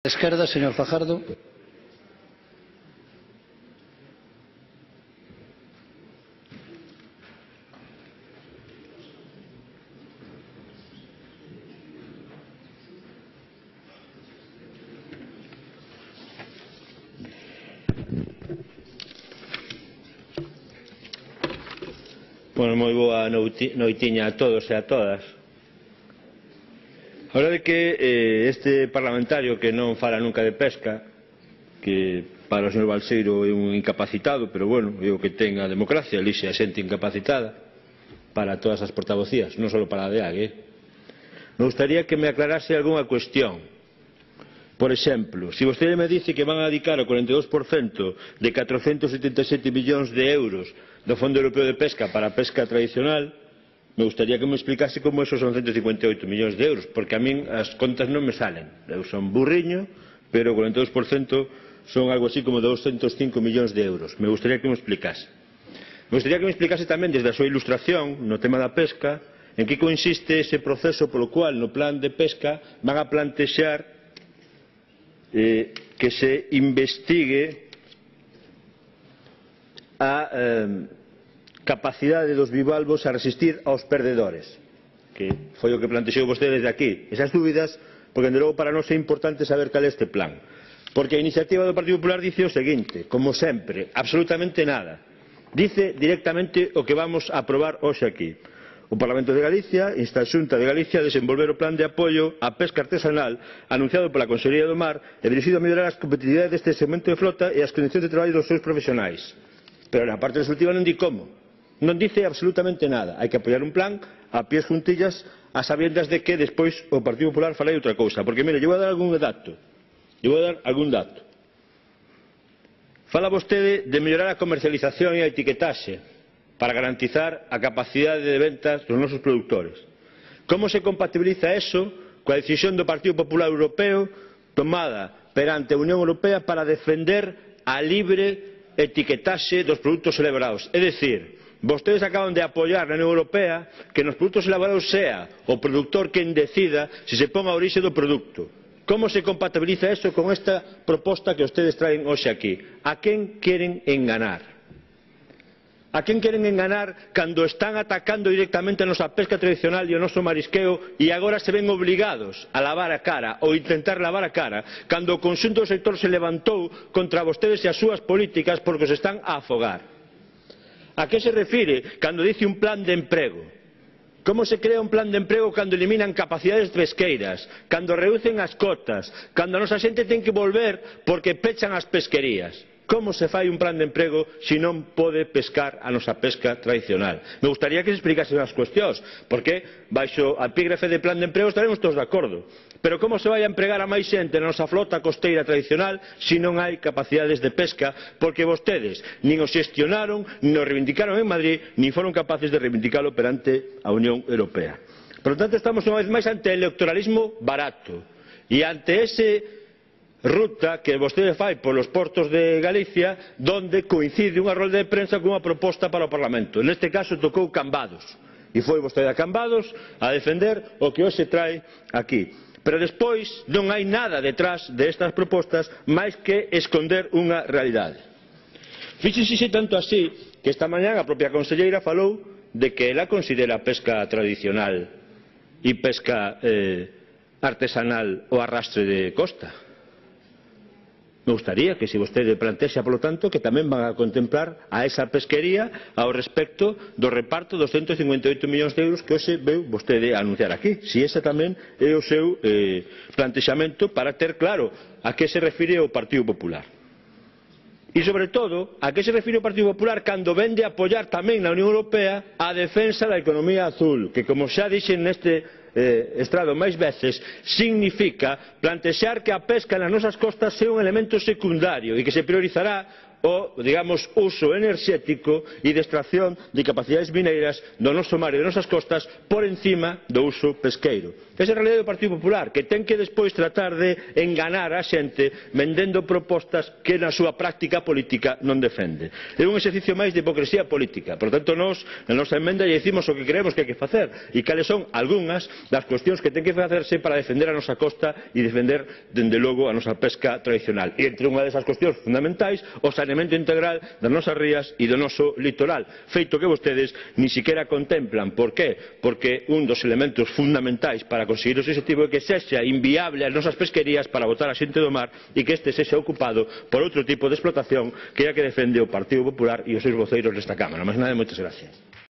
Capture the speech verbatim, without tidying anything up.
Esquerda, señor Fajardo. Bueno, moi boa noitiña a todos e a todas. A verdade é que eh, este parlamentario que non fala nunca de pesca, que para o señor Balseiro é un incapacitado, pero bueno, é o que ten a democracia, elixe a xente incapacitada para todas as portavocías, non só para a D A G. Eh? Me gustaría que me aclarase algunha cuestión. Por exemplo, se vostede me dice que van a dedicar o cuarenta e dous por cento de catrocentos setenta e sete millóns de euros do Fondo Europeo de Pesca para a pesca tradicional, me gustaría que me explicase como esos son ciento cincuenta e oito millóns de euros, porque a min as contas non me salen. Eu son burriño, pero o cuarenta e dous por cento son algo así como doscientos cinco millóns de euros. Me gustaría que me explicase. Me gustaría que me explicase tamén desde a súa ilustración no tema da pesca en que consiste ese proceso polo cual no plan de pesca van a plantexar Eh, que se investigue a eh, capacidade dos bivalvos a resistir aos perdedores, que foi o que plantexou vostede desde aquí. Esas dúbidas, porque de logo para nós é importante saber cal é este plan, porque a iniciativa do Partido Popular dice o seguinte, como sempre, absolutamente nada, dice directamente o que vamos a aprobar hoxe aquí. O Parlamento de Galicia insta a Xunta de Galicia a desenvolver o plan de apoio á pesca artesanal anunciado pola Consellería do Mar e dirixido a mellorar as competitividades deste segmento de flota e as condicións de traballo dos seus profesionais. Pero na parte resolutiva non di como. Non dice absolutamente nada. Hai que apoiar un plan a pies juntillas a sabiendas de que despois o Partido Popular fará outra cousa. Porque, mire, eu vou dar algún dato. Eu vou dar algún dato. Fala vostede de mellorar a comercialización e a etiquetaxe para garantizar a capacidade de ventas dos nosos produtores. Como se compatibiliza eso coa decisión do Partido Popular Europeo tomada perante a Unión Europea para defender a libre etiquetaxe dos produtos elaborados? É dicir, vostedes acaban de apoiar na Unión Europea que nos produtos elaborados sea o produtor quen decida se se pon a orixe do produto. Como se compatibiliza eso con esta proposta que vostedes traen hoxe aquí? A quen queren enganar? A quen queren enganar cando están atacando directamente a nosa pesca tradicional e o noso marisqueo e agora se ven obligados a lavar a cara ou intentar lavar a cara cando o conxunto do sector se levantou contra vostedes e as súas políticas porque os están a afogar? A que se refire cando dice un plan de emprego? Como se crea un plan de emprego cando eliminan capacidades pesqueiras, cando reducen as cotas, cando a nosa xente ten que volver porque pechan as pesquerías? Como se fai un plan de emprego se non pode pescar a nosa pesca tradicional? Me gustaría que se explicasen as cuestións, porque baixo a epígrafe de plan de emprego estaremos todos de acordo. Pero como se vai a empregar a máis xente na nosa flota costeira tradicional se non hai capacidades de pesca, porque vostedes nin o xestionaron, nin o reivindicaron en Madrid, nin foron capaces de reivindicalo perante a Unión Europea. Por lo tanto, estamos unha vez máis ante o electoralismo barato e ante ese ruta que vostede fai polos portos de Galicia donde coincide unha rolda de prensa con unha proposta para o Parlamento. Neste caso tocou Cambados e foi vostede a Cambados a defender o que hoxe trae aquí. Pero despois non hai nada detrás destas propostas máis que esconder unha realidade. Fíxense tanto así que esta mañá a propia conselleira falou de que ela considera a pesca tradicional e pesca eh, artesanal o arrastre de costa. Me gustaría que se vostede plantexa, polo tanto, que tamén van a contemplar a esa pesquería ao respecto do reparto dos ciento cincuenta e oito millóns de euros que hoxe veu vostede a anunciar aquí. Si ese tamén é o seu eh, plantexamento para ter claro a que se refire o Partido Popular. E, sobre todo, a que se refire o Partido Popular cando vende a apoiar tamén na Unión Europea a defensa da economía azul, que, como xa dixen neste Eh, estrado máis veces, significa plantexar que a pesca nas nosas costas sea un elemento secundario e que se priorizará o, digamos, uso enerxético e de extracción de capacidades mineiras do noso mar e das nosas costas por encima do uso pesqueiro. Esa é a realidade do Partido Popular, que ten que despois tratar de enganar a xente vendendo propostas que na súa práctica política non defende. É un exercicio máis de hipocresía política. Por tanto, nós, na nosa emenda, lle dicimos o que creemos que hai que facer e cales son algunhas das cuestións que ten que facerse para defender a nosa costa e defender, dende logo, a nosa pesca tradicional. E entre unha desas cuestións fundamentais, o saneamento integral das nosas rías e do noso litoral, feito que vostedes ni siquiera contemplan. Por qué? Porque un dos elementos fundamentais para conseguir ese objetivo é que sexa inviable as nosas pesquerías para botar a xente do mar e que este sexa ocupado por outro tipo de explotación que é a que defende o Partido Popular e os seus voceiros nesta Cámara. Máis nada, moitas gracias.